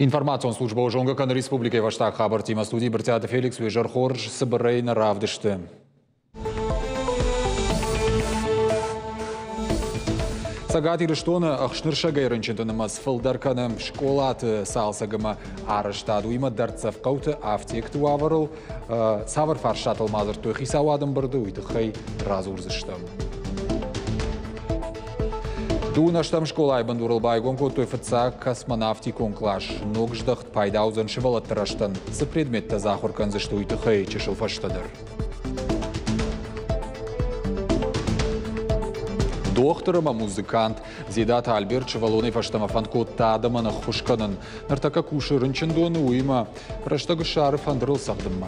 Информацион службӕ зонгӕ кӕны республикӕйы фӕстаг хабӕрттимӕ. Студийы Брытъиаты Феликс уе зӕр хорз цыбырӕй нӕ равдысты. Цӕгат Ирыстоны ӕхснырсӕгӕй рынчынты нымӕц фылдӕр кӕны скъолаты цалцӕг ӕмӕ арӕзтад, уыимӕ дӕрддзӕф хъӕуты афтекты уавӕрыл цавӕр фарстатыл ма дзырдтой хицауады ӕмбырды, уый тыххӕй радзурдзыстӕм. Дыууын ӕстӕм скъолайы бындурыл байгом кодтой фыццаг космонавтикон кълас. Ног здӕхт пайда уыдзӕн сывӕллӕтты рӕзтӕн. Цы предметтӕ дзы ахуыр кӕндзысты, уый тыххӕй чысыл фӕстӕдӕр. Дохтыр ӕмӕ музыкант Дзедаты Альберт сывӕллонӕй фӕстӕмӕ фӕнд кодта адӕмӕн ӕххуыс кӕнын. Ныртӕккӕ кусы рынчындоны, уыимӕ рӕстӕг ссары фӕндырыл цӕгъдынмӕ.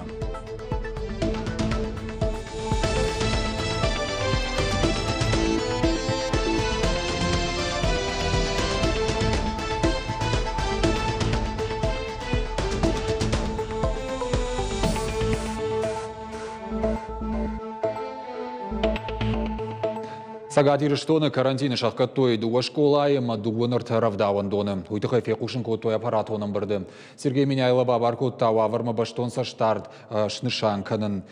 Цӕгат Ирыстоны карантины сӕхгӕдтой дыууӕ скъолайы ӕмӕ дыууын ӕртӕ рӕвдауӕндоны. Уый тыххӕй фехъусын кодтой аппаратон ӕмбырды. Сергей Меняйло бабар кодта уавӕрмӕ бӕстон цӕстдард снысан кӕнын.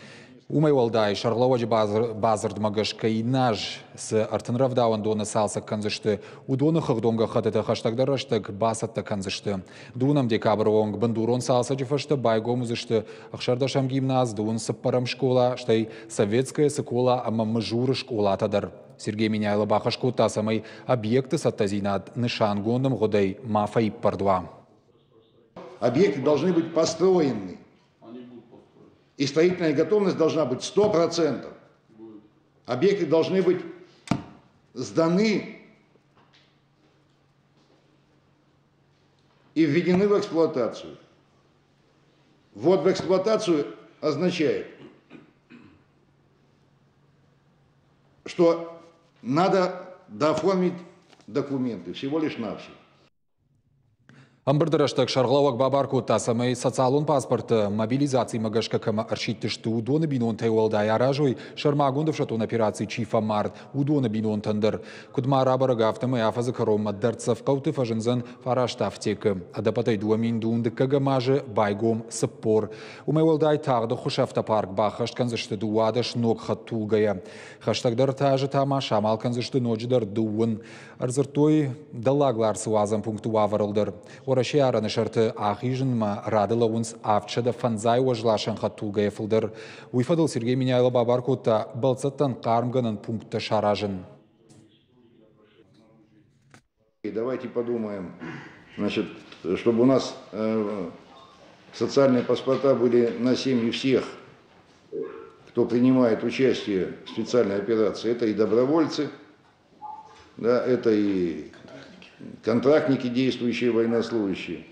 Уымӕй уӕлдай, сӕргълӕууӕджы бадзырдмӕ гӕсгӕ иннӕ аз цы 30 рӕвдауӕндоны цалцӕг кӕндзысты, уыдоны хыгъдон гӕххӕттытӕ хӕстӕгдӕр рӕстӕг бацӕттӕ кӕндзысты. Дыууынӕм декабры онг бындурон цалцӕджы фӕстӕ байгом уыдзысты ӕхсӕрдӕсӕм гимназ, дыууын цыппӕрӕм скъола, стӕй Советская Цыкола ӕмӕ Мызуры скъолатӕ дӕр. Сергей Меняйло бахӕс кодта, цӕмӕй объекты цӕттӕдзинад нысангонд ӕмгъуыдӕй ма фӕиппӕрд уа. Объекты должны быть построены. И строительная готовность должна быть 100%. Объекты должны быть сданы и введены в эксплуатацию. Ввод в эксплуатацию означает, что надо дооформить документы, всего лишь навсего. Ӕмбырды рӕстӕг сӕргълӕууӕг бабар кодта, цӕмӕй социалон паспорты мобилизацимӕ гӕсгӕ кӕмӕ ӕрсидтысты, уыдоны бинонтӕй уӕлдай аразой, сӕрмагонд ӕфсӕддон операцийы чи фӕмард, уыдоны бинонтӕн дӕр. Куыд ма рабӕрӕг, афтӕмӕй афӕдзы кӕронмӕ дӕрддзӕф хъӕуты фӕзындзӕн фараст афтекы. Ӕдӕппӕтӕй 2000 дыккӕгӕм азы байгом 40. Уымӕй уӕлдай тагъд ӕххуысы автопарк баххӕст кӕндзысты 12 ног хӕдтулгӕйӕ. Хӕстӕгдӕр азы та ма самал кӕндзысты ноджыдӕр дыууын. Ӕрдзырдтой Дӕллаг Ларсы уадзӕн пункты уавӕрыл дӕр. Уӕрӕсейы арӕны сӕрты ахизынмӕ рады лӕууынц 750 уӕзласӕн хӕдтулгӕйӕ фылдӕр. Уый фӕдыл Сергей Меняйло бабар кодта бӕлццӕттӕн хъармгӕнӕн пункттӕ саразын. Давайте подумаем, значит, чтобы у нас социальные паспорта были на семьи всех, кто принимает участие в специальной операции. Это и добровольцы, да, это и контрактники, действующие военнослужащие.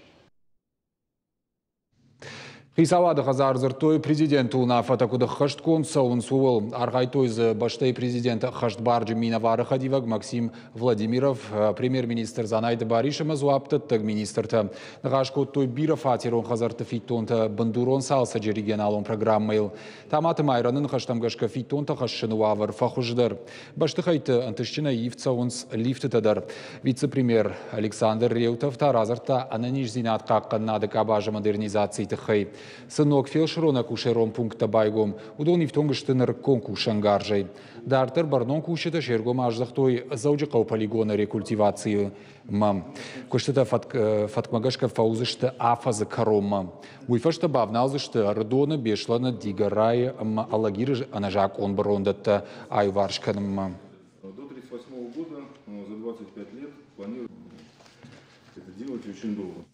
Хицауады хӕдзар дзырдтой президенты уынаффӕтӕ куыд ӕххӕстгонд цӕуынц, ууыл. Архайдтой дзы бӕстӕйы президенты ӕххӕстбарджын минӕвары хӕдивӕг Максим Владимиров, премьер-министр Дзанайты Барис ӕмӕ дзуапдӕттӕг министртӕ. Ныхас кодтой бирӕфатерон хӕдзӕртты фиддонтӕ бындурон цалцӕджы регионалон программӕйыл. Таматы Майраны ныхӕстӕм гӕсгӕ фиддонтӕ хӕссыны уавӕр фӕхуыздӕр. Бӕстыхӕйтты ӕнтыстджынӕй ивд цӕуынц лифтытӕ дӕр. Вице-премьер Александр Реутов та радзырдта ӕнӕниздзинад хъахъхъӕнынады къабазы модернизацийы тыххӕй. Цы ног фелсырон-акушерон пункттӕ байгом, уыдон ифтонг сты нырыккон кусӕнгарзӕй. Дарддӕр бӕрнон кусджытӕ се ргом аздӕхтой Дзӕуджыхъӕуы полигоны рекультивацийы мӕ. Куыстытӕ фӕткмӕ гӕсгӕ фӕуыдзысты афӕдзы кӕронмӕ. Уый фӕстӕ бавналдзысты Ӕрыдоны, Беслӕны, Дигорайы ӕмӕ Алагиры ӕнӕзакъон бырондӕттӕ аиуварс кӕнынмӕ. До 1938 года, за 25 лет, планируем это делать очень долго.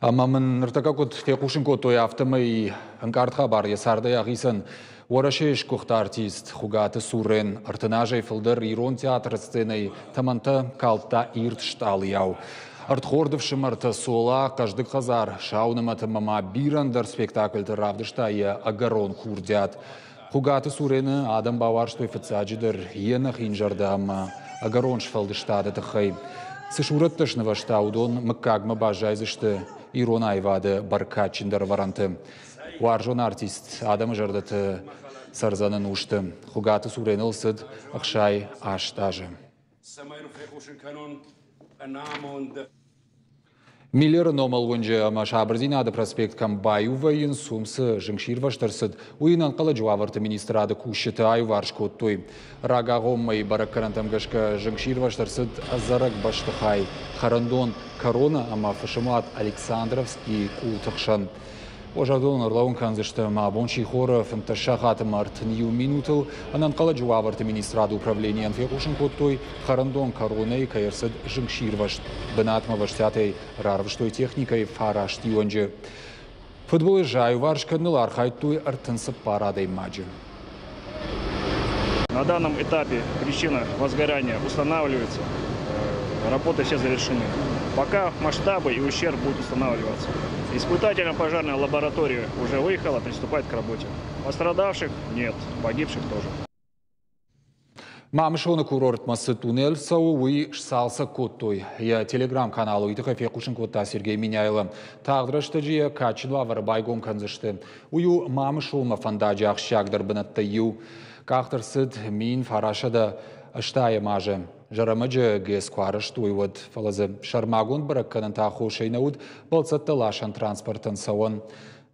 Ӕмӕ мын ныртӕккӕ куыд фехъусын кодтой, афтӕмӕй ӕнкъард хабар йӕ цардӕй ахицӕн Уӕрӕсейы сгуыхт артист Хуыгаты Сурен 30 азӕй фылдӕр ирон театры сценӕйы тӕмӕнтӕ калдта ирд стъалыйау. Ӕрдхорд ӕфсымӕртӕ Цола, Хъӕздыг хӕдзар, Сау нымӕт ӕмӕ ма бирӕ ӕндӕр спектакльты равдыста йӕ ӕгӕрон курдиат. Хуыгаты Сурены адӕм бауарзтой фыццаджыдӕр йе нӕхин зӕрдӕ ӕмӕ ӕгӕрон сфӕлдыстады тыххӕй. Цы сурӕттӕ снывӕзта, уыдон мыггагмӕ баззайдзысты ирон аивады бӕркадджындӕр ӕвӕрӕнты. Уарзон артист адӕмы зӕрдӕты цӕрдзӕн ӕнусты. Хуыгаты Суреныл цыд 68 азы. Цӕмӕй фехъусын кӕнон ӕнамонд. Миллеры номыл уынджы ӕмӕ Сабырдзинады проспект кӕм баиу вӕййынц, уым цы зынгсирвӕзт ӕрцыд, уый ӕнӕнхъӕлӕджы уавӕрты министрады кусджытӕ аиуварс кодтой. Рагагъоммӕйы бӕрӕггӕнӕнтӕм гӕсгӕ зынгсирвӕзт ӕрцыд ӕдзӕрӕг бӕстыхай, хӕрӕндон Корона ӕмӕ фысымуат Александровскийы къулты хсӕн. Уазӕгдон ӕрлӕууын кӕндзысты ӕмӕ абон сихоры 15 сахаты ӕмӕ 31 минутыл ӕнӕнхъӕлӕджы уавӕрты министрады управленийӕн фехъусын кодтой, хӕрӕндон Коронӕйы кӕй ӕрцыд зынгсирвӕзт. Бынатмӕ вӕстиатӕй рарвыстой техникӕйы фараст иуӕнджы. Фыдбылыз аиуварс кӕныныл архайдтой 34 адӕймаджы. На данном этапе причина возгорания устанавливается. Работы все завершены. Пока масштабы и ущерб будут устанавливаться. Испытательно-пожарная лаборатория уже выехала, приступает к работе. Пострадавших нет, погибших тоже. Мамысоны курортмӕ цы туннель цӕуы, уый сцалцӕг кодтой. Йӕ телеграм-каналы уый тыххӕй фехъусын кодта Сергей Меняйло. Тагъд рӕстӕджы йӕ кадджын уавӕры байгом кӕндзысты. Уый у Мамысонмӕ фӕндаджы ахсджиагдӕр бынӕттӕй иу. Къахт ӕрцыд 1980 азы. Зӕрӕмӕджы ГЭС куы арӕзтой, уӕд, фӕлӕ дзы сӕрмагонд бӕрӕггӕнӕнты аххосӕй нӕ уыд бӕлццӕттӕ ласӕн транспортӕн цӕуӕн.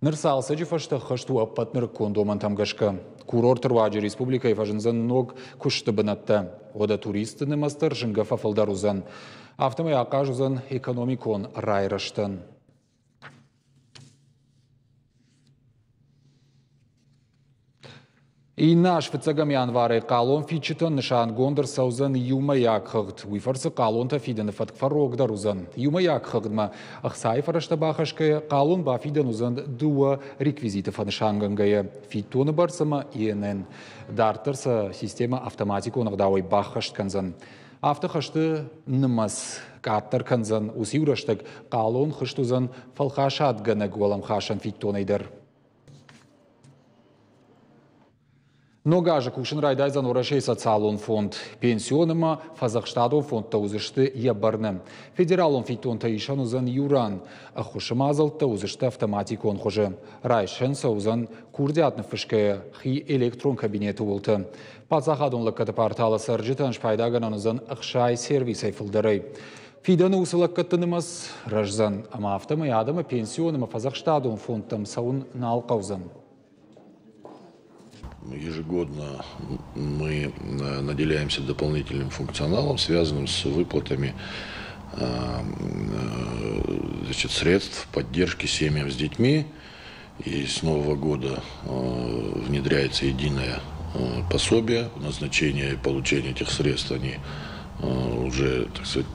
Ныр цалцӕджы фӕстӕ ххӕст у ӕппӕт нырыккон домӕнтӕм гӕсгӕ. Курорты руаджы республикӕйы фӕзындзӕн ног куысты бынӕттӕ. Уӕдӕ туристты нымӕц дӕр зынгӕ фӕфылдӕр уыдзӕн. Афтӕмӕй ахъаз уыдзӕн экономикон райрӕзтӕн. Иннӕ аз фыццӕгӕм январӕй хъалон фидджытӕн нысангонд ӕрцӕудзӕн иумӕйаг хыгъд. Уый фӕрцы хъалонтӕ фидыны фӕтк фӕрогдӕр уыдзӕн. Иумӕйаг хыгъдмӕ ӕхцайы фӕрӕзтӕ бахӕсгӕйӕ, хъалон бафидӕн уыдзӕн дыууӕ реквизиты фӕнысангӕнгӕйӕ – фиддоны бӕрц ӕмӕ ИНН. Дарддӕр сӕ системӕ автоматикон ӕгъдауӕй баххӕст кӕндзӕн. Афтӕ хӕсты нымӕц къаддӕр кӕндзӕн, уыцы-иу рӕстӕг хъалон хызт уыдзӕн фӕлхасадгӕнӕг уӕлӕмхасӕн фиддонӕй дӕр. Ног азы кусын райдайдзӕн Уӕрӕсейы социалон фонд. Пенсион ӕмӕ фӕдзӕхстадон фондтӕ уыдзысты йӕ бӕрны. Федералон фиддонтӕ исӕн уыдзӕн иу ран. Ӕххуысы мадзӕлттӕ уыдзысты автоматикон хуызы. Райсӕн сӕ уыдзӕн курдиат ныффысгӕйӕ хи электрон кабинеты уылты. Паддзахадон лӕггӕды порталы цӕрджытӕн спайдагӕнӕн уыдзӕн 60 сервисӕй фылдӕрӕй. Фидӕны уыцы лӕггӕдты нымӕц рӕздзӕн, ӕмӕ афтӕмӕй адӕмы пенсион ӕмӕ фӕдзӕхстадон фондтӕм цӕуын нал хъӕудзӕн. Ежегодно мы наделяемся дополнительным функционалом, связанным с выплатами, значит, средств поддержки семьям с детьми. И с Нового года внедряется единое пособие, назначение и получение этих средств, они уже, так сказать,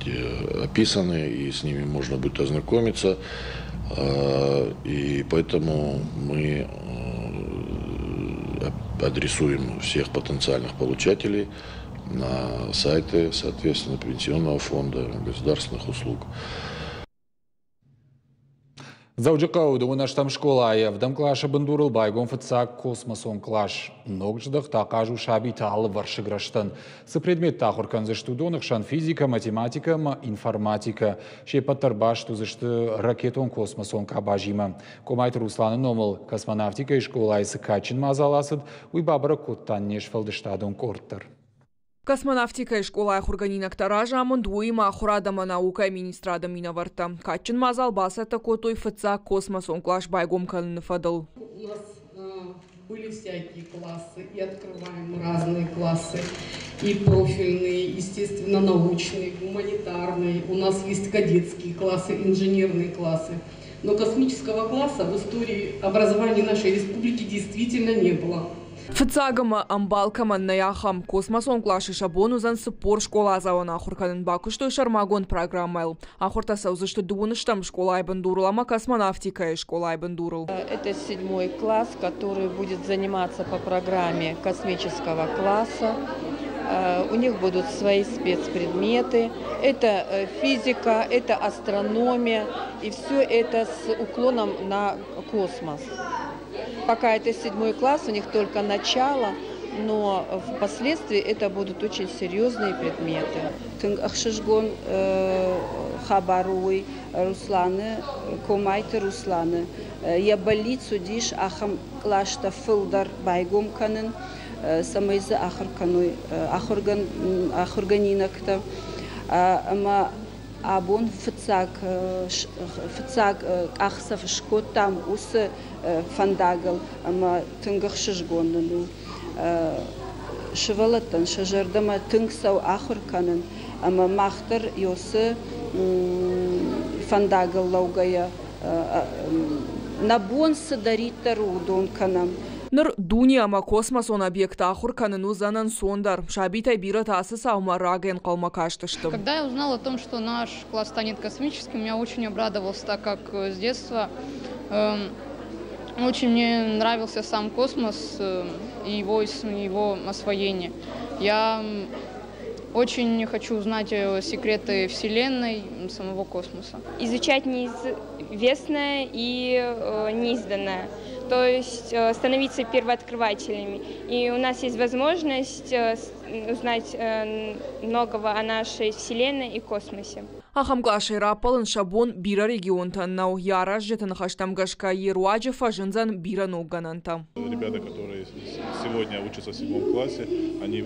описаны, и с ними можно будет ознакомиться. И поэтому мы адресуем всех потенциальных получателей на сайты, соответственно, Пенсионного фонда, государственных услуг. Дзӕуджыхъӕуы дыууынӕстӕм скъолайы ӕвдӕм къласы бындурыл байгом фыццаг космосон кълас. Ног здӕхт ахъаз у сабиты алывӕрсыг рӕзтӕн. Цы предметтӕ ахуыр кӕндзысты, уыдоны хсӕн физикӕ, математикӕ ӕмӕ информатикӕ. Се ппӕт дӕр баст уыдзысты ракетон-космосон къабазимӕ. Къомайты Русланы номыл космонавтикӕйы скъолайы цы кадджын мадзал ацыд, уый бабӕрӕг кодта не сфӕлдыстадон къорд дӕр. Космонавтикӕйы скъолайы ахуыргӕнинӕгтӕ разамынд, уыимӕ ахуырад ӕмӕ наукӕйы министрады минӕвӕрттӕ. Кадджын мадзал бацӕттӕ кодтой фыццаг космосон кълас байгом кӕныны фӕдыл. У нас были всякие классы, и открываем разные классы, и профильные, естественно, научные, гуманитарные. У нас есть кадетские классы, инженерные классы. Но космического класса в истории образования нашей республики действительно не было. Фыццаг ӕмӕ ӕмбал кӕмӕн нӕй, ахӕм космосон къласы сӕ бон уыдзӕн 40 скъоладзауӕн ахуыр кӕнын, бакуыстой сӕрмагонд программӕйыл. Ахуыртӕ цӕудзысты дыууыныстӕм скъолайы бындурыл ӕмӕ космонавтикӕйы скъолайы бындурыл. Это седьмой класс, который будет заниматься по программе космического класса. У них будут свои спецпредметы. Это физика, это астрономия. И все это с уклоном на космос. Пока это седьмой класс, у них только начало, но впоследствии это будут очень серьезные предметы. Тынг ӕхсызгон хабар у уый Русланы, Комайты Русланы. Йӕ бӕллиц уыдис ахӕм къластӕ фылдӕр байгом кӕнын, цӕмӕй дзы ахуыр кӕной ахуыргӕнинӕгтӕ. Ӕмӕ Абон фыццаг фыццаг къахдзӕф скодтам уыцы фӕндагыл ӕмӕ тынг ӕхсызгон нын у. Сывӕллӕттӕн сӕ зӕрдӕмӕ тынг цӕуы ахуыр кӕнын ӕмӕ мах дӕр уыцы фӕндагыл лӕугӕйӕ нӕ бон цыдӕриддӕр у, уыдон кӕнӕм. Ныр дуне ӕмӕ космосон объекты ахуыр кӕнын уыдзӕн ӕнцондӕр. Сабитӕй бирӕтӕ ацы цаумӕ рагӕй ӕнхъӕлмӕ кастысты. Когда я узнала о том, что наш класс станет космическим, я очень обрадовался, так как с детства очень мне нравился сам космос и его освоение. Я очень хочу узнать секреты Вселенной, самого космоса. Изучать неизвестное и неизданное, то есть становиться первооткрывателями. И у нас есть возможность узнать многого о нашей Вселенной и космосе. Ахӕм къласӕй раппӕлын сӕ бон бирӕ регионтӕн нӕу. Йӕ аразджыты ныхӕстӕм гӕсгӕ йе руаджы фӕзындзӕн бирӕ ног гӕнӕнтӕ. Ребята, которые сегодня учатся в седьмом классе, они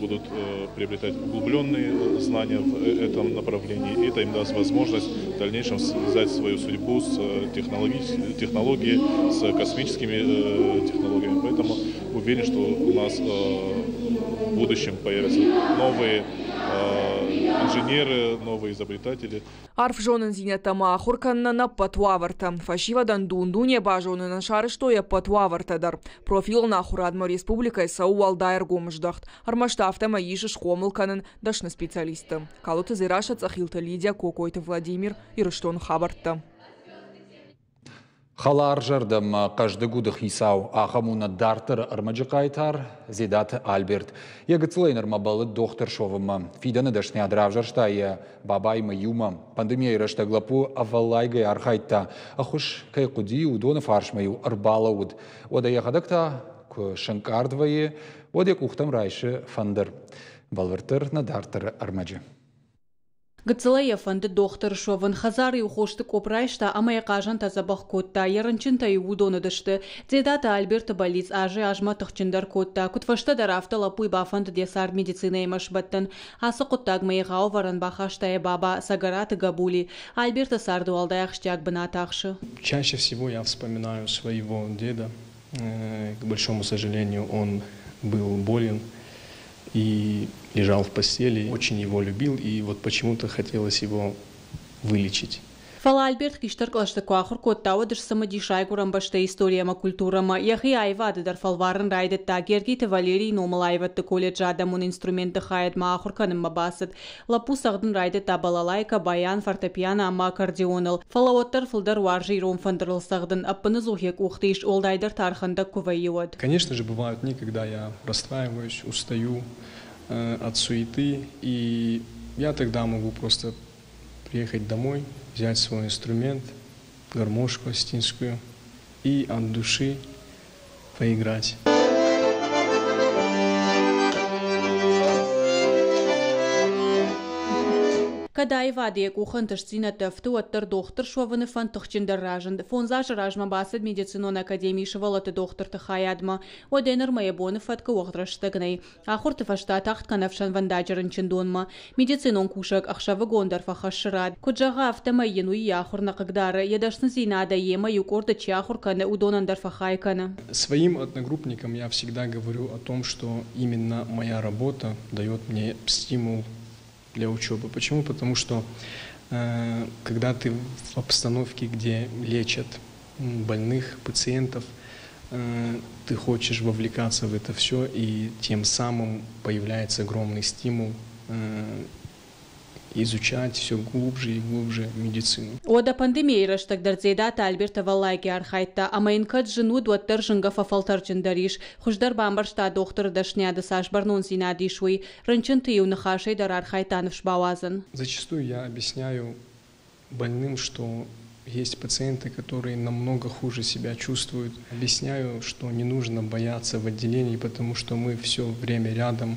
будут приобретать углубленные знания в этом направлении. И это им даст возможность в дальнейшем связать свою судьбу с технологией, с космическими технологиями. Поэтому уверен, что у нас в будущем появятся новые инженеры, новые изобретатели. Арф зонындзинӕдтӕ ма ахуыр кӕнынӕн ӕппӕт уавӕртӕ. Фӕсивӕдӕн дун-дуне базонынӕн сарӕзтой ӕппӕт уавӕртӕ дӕр. Профилон ахуырадмӕ республикӕйы цӕуы уӕлдай ӕргом здӕхт. Ӕрмӕст афтӕмӕй ис схъомыл кӕнын дӕсны специалистты. Калоты Дзерассӕ, Цъӕхилты Лидия, Кокойты Владимир, Ирыстоны хабӕрттӕ. Хӕларзӕрдӕ ӕмӕ хъӕздыг уды хицау, ахӕм у нӕ дарддӕры ӕрмӕджы хъайтар Дзедаты Альберт. Йӕ гыццылӕй нырмӕ бӕллыд дохтыр суӕвынмӕ. Фидӕны дӕсныйад равзӕрста йӕ бабаимӕ иумӕ. Пандемийӕйы рӕстӕг лӕппу ӕвӕллайгӕ архайдта. Ӕххуыс кӕй хъуыди, уыдоны фарсмӕ-иу ӕрбалӕууыд. Уӕдӕ йӕхӕдӕг та куы сӕнкъард вӕййы, уӕд йӕ къухтӕм райсы фӕндыр. Бӕлвырддӕр нӕ дарддӕры ӕрмӕджы. Гыццылӕй йӕ фӕндыд дохтыр суӕвын. Хӕдзары-иу хосты къопп райста ӕмӕ йӕ хъазӕнтӕ дзӕбӕх кодта. Йӕ рынчынтӕ-иу уыдон уыдысты. Дзедаты Альберты бӕллиц азӕй-азмӕ тыхджындӕр кодта. Куыд фӕстӕдӕр, афтӕ лӕппуйы бафӕндыд йӕ цард медицинӕимӕ сбӕттын. Ацы хъуыддагмӕ егъау ӕвӕрӕн бахаста йӕ баба Цӕгӕраты Гӕбули. Альберты царды уӕлдай ахсджиаг бынат ахсы. Чаще всего я вспоминаю своего деда. К большому сожалению, он был болен и лежал в постели. Очень его любил, и вот почему-то хотелось его вылечить. Фӕлӕ Альберт хистӕр кълӕсты куы ахуыр кодта, уӕд сцымыдис райгуырӕн бӕстӕйы истори ӕмӕ культурӕмӕ. Йӕхи аивады дӕр фӕлварын райдыдта. Гергиты Валерийы номыл аивӕдты колледжы адӕмон инструментты хайадмӕ ахуыр кӕнынмӕ бацыд. Лӕппу цӕгъдын райдыдта балалайкӕ, баян, фортепиано ӕмӕ аккордеоныл. Фӕлӕ уӕддӕр фылдӕр уарзы ирон фӕндырыл цӕгъдын. Ӕппыныдзух йӕ къухты ис, уӕлдайдӕр та ӕрхӕндӕг куы вӕййы, уӕд. Конечно же, бывают дни, когда я расстраиваюсь, устаю от суеты, и я тогда могу просто приехать домой, взять свой инструмент, гармошку осетинскую, и от души поиграть. Кӕд аивады йӕ къухы ӕнтыстдзинӕдтӕ ӕфты, уӕддӕр дохтыр суӕвыны фӕнд тыхджындӕр разынд. Фондз азы размӕ бацыд медицинон академийы сывӕллӕтты дохтырты хайадмӕ. Уӕдӕй нырмӕ йӕ боны фӕткы уӕгъд рӕстӕг нӕй. Ахуырты фӕстӕ тагъд кӕны ӕфсӕнвӕндаджы рынчындонмӕ. Медицинон кусӕг ӕхсӕвыгон дӕр фӕхӕссы рад. Куыд зӕгъы, афтӕмӕй йын уый йӕ ахуыр нӕ хъыгдары. Йӕ дӕсныдзинадӕй йемӕ иу къорды чи ахуыр кӕны, уыдонӕн дӕр фӕхай кӕны. Своим одногруппникам я всегда говорю о том, что именно моя работа дает мне стимул для учебы. Почему? Потому что когда ты в обстановке, где лечат больных, пациентов, ты хочешь вовлекаться в это все, и тем самым появляется огромный стимул изучать все глубже и глубже медицину. Уӕдӕ пандемийӕйы рӕстӕг дӕр Дзедаты Альберт ӕвӕллайгӕ архайдта, ӕмӕ йын кӕд зын уыд, уӕддӕр зынгӕ фӕфӕлтӕрджындӕр ис. Хуыздӕр бамбӕрста, дохтыры дӕсныйады цас бӕрнондзинад ис, уый. Рынчынты-иу ныхасӕй дӕр архайдта ныфс бауадзын. Зачастую я объясняю больным, что есть пациенты, которые намного хуже себя чувствуют. Объясняю, что не нужно бояться в отделении, потому что мы все время рядом,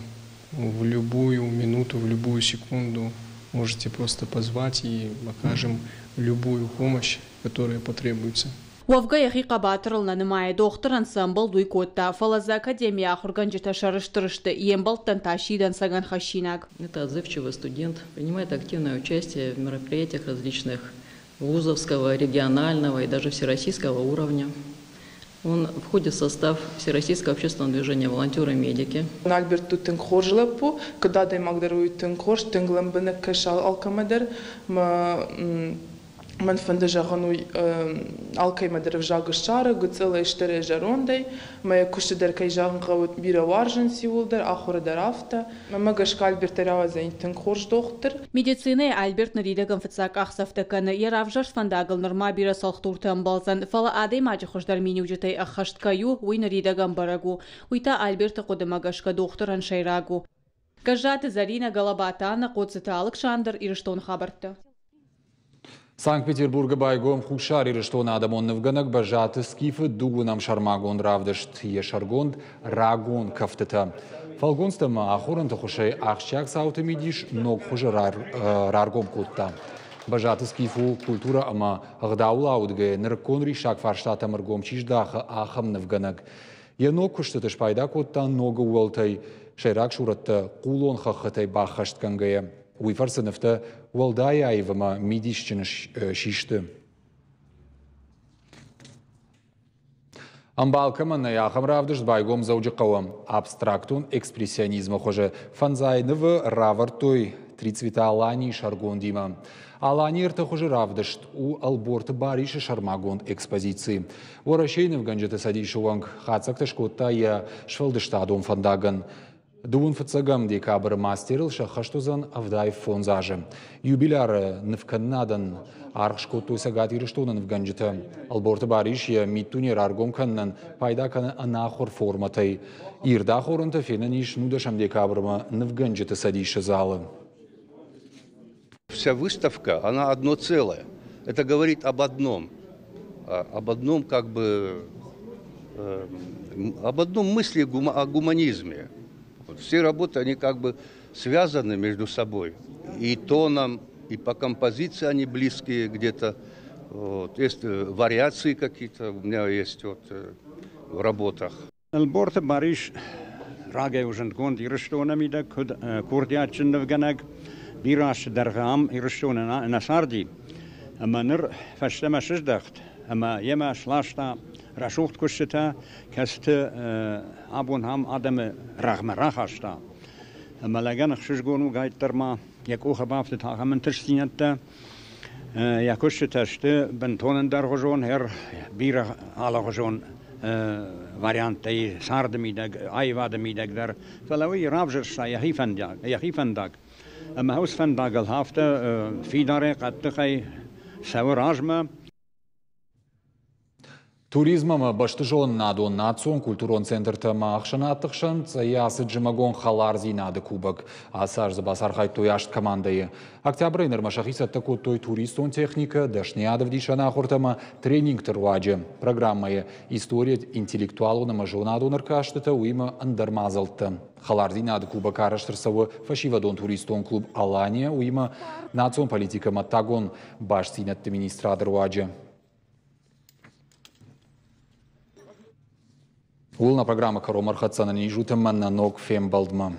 в любую минуту, в любую секунду можете просто позвать, и окажем любую помощь, которая потребуется. Уӕвгӕ йӕхи хъӕбатырыл нӕ нымайы, дохтырӕн цы ӕмбӕлд, уый кодта, фӕлӕ дзы академийы ахуыргӕнджытӕ сӕрыстыр сты, йе мбӕлттӕн та сси дӕнцӕгӕн хӕссинаг. Это отзывчивый студент, принимает активное участие в мероприятиях различных вузовского, регионального и даже всероссийского уровня. Он входит в состав Всероссийского общественного движения «Волонтеры-медики». Альберт у тынг хорз лӕппу, куыд адӕймаг дӕр уый тынг хорз, тынг лӕмбынӕг кӕсы алкӕмӕ дӕр. Мӕн фӕнды зӕгъын уый алкӕмӕ дӕр ӕвзаг ссары, гыццылӕй, стырӕй, зӕрондӕй. Мӕ куысты дӕр, кӕй зӕгъын хъӕуы, бирӕ уарзынц иууылдӕр, ахуыры дӕр афтӕ. Мӕнмӕ гӕсгӕ Альберт рауадзӕн тынг хорз дохтыр. Медицинӕйы Альберт ныридӕгӕн фыццаг къахдзӕфтӕ кӕны. Йӕ равзӕрст фӕндагыл нырма бирӕ цӕлхдуртӕ ӕмбӕлдзӕн, фӕлӕ адӕймаджы хуыздӕр миниуджытӕй ӕххӕст кӕй у, уый ныридӕгӕн бӕрӕг у. Уый та Альберты хъуыдымӕ гӕсгӕ дохтырӕн сӕйраг у. Гӕззаты Зӕринӕ, Галабаты Анна, Хъоцыты Алыксандр, Ирыстоны хабӕрттӕ. Санкт-Петербургы байгом Хуссар Ирыстоны адӕмон нывгӕнӕг Бӕззаты Скифы дыууынӕм сӕрмагонд равдыст, йӕ сӕргонд «Рагон кӕфтытӕ». Фӕлгонцтӕ ӕмӕ ахорӕнты хуызӕй ахсджиаг цауты мидис ног хуызы раргом кодта. Бӕззаты Скиф у культурӕ ӕмӕ ӕгъдауыл аудгӕйӕ нырыккон риссаг фарстатӕм ӕргом чи здахы, ахӕм нывгӕнӕг. Йӕ ног куыстыты спайда кодта ног ӕууӕлтӕй, сӕйраг сурӕттӕ хъулон хӕххытӕй баххӕстгӕнгӕйӕ. Уый фӕрцы нывтӕ уӕлдай аив ӕмӕ мидисджын систы. Ӕмбал кӕмӕн нӕй, ахӕм равдыст байгом Дзӕуджыхъӕуы. Абстрактон экспрессионизмы хуызы фӕндзай нывы равӕрдтой «Три цвета Алании» сӕргондимӕ. Алани ӕртӕ хуызы равдыст у Ӕлборты Барисы сӕрмагонд экспозици. Уӕрӕсейы нывгӕнджыты цӕдисы уӕнг хатдзӕгтӕ скодта йӕ сфӕлдыстадон фӕндагӕн. Дыууын фыццӕгӕм декабры мастерыл сӕххӕст уыдзӕн 75 азы. Юбиляры нывкӕнынадӕн аргъ скодтой Цӕгат Ирыстоны нывгӕнджытӕ. Ӕлборты Барис йӕ миддуне раргом кӕнынӕн пайда кӕны ӕнахуыр формӕтӕй. Ирд ахорӕнтӕ фенӕн ис 19 декабрмӕ нывгӕнджыты цӕдисы залы. Вся выставка, она одно целое. Это говорит об одном. Об одном как бы об одном мысли о гуманизме. Вот все работы, они как бы связаны между собой. И тоном, и по композиции они близкие где-то. Вот. Есть вариации какие-то у меня есть вот в работах. Ӕлборты Барис рагӕй у зындгонд Ирыстоны мидӕг куыд курдиатджын нывгӕнӕг. Бирӕ азты дӕргъы ам Ирыстоны нӕ царди ӕмӕ ныр фӕстӕмӕ сыздӕхт ӕмӕ йемӕ сласта рӕсугъд куыстытӕ, кӕцыты абон ам адӕмы рӕгъмӕ рахаста. Ӕмӕ лӕгӕн ӕхсызгон у гайддӕр ма йӕ къухы бафтыд ахӕм ӕнтыстдзинӕдтӕ. Йӕ куыстытӕ сты бынтон ӕндӕргъуызон, бирӕ алыгъуызон варианттӕй царды мидӕг, аивады мидӕг дӕр. Фӕлӕ уый равзӕрста йӕхи фӕндаг, йӕхи фӕндаг. Ӕмӕ уыцы фӕндагыл афтӕ фидарӕй, хъӕддыхӕй цӕуы размӕ. Туризм ӕмӕ бӕстызонынадон национ культурон центртӕ ӕмӕ ӕхсӕнадты хсӕн Цъӕйы ацыд зымӕгон хӕлардзинады кубок. Ацы аз дзы бацархайдтой аст командӕйы. Октябрӕй нырмӕ сӕхи цӕттӕ кодтой туристон техникӕ, дӕсныйад ӕвдисӕн ахуыртӕ ӕмӕ тренингты руаджы. Программӕйы историйӕ интеллектуалон ӕмӕ зонадон ӕркастытӕ, уыимӕ ӕндӕр мадзӕлттӕ. Хӕлардзинады кубок арӕзт ӕрцӕуы фӕсивӕдон туристон клуб «Алания», уыимӕ национ политикӕ ӕмӕ ӕддагон бастдзинӕдты министрады руаджы. Ууыл нӕ программӕ кӕронмӕ ӕрхӕццӕ ис ӕмӕ нӕ ног фембӕлдмӕ.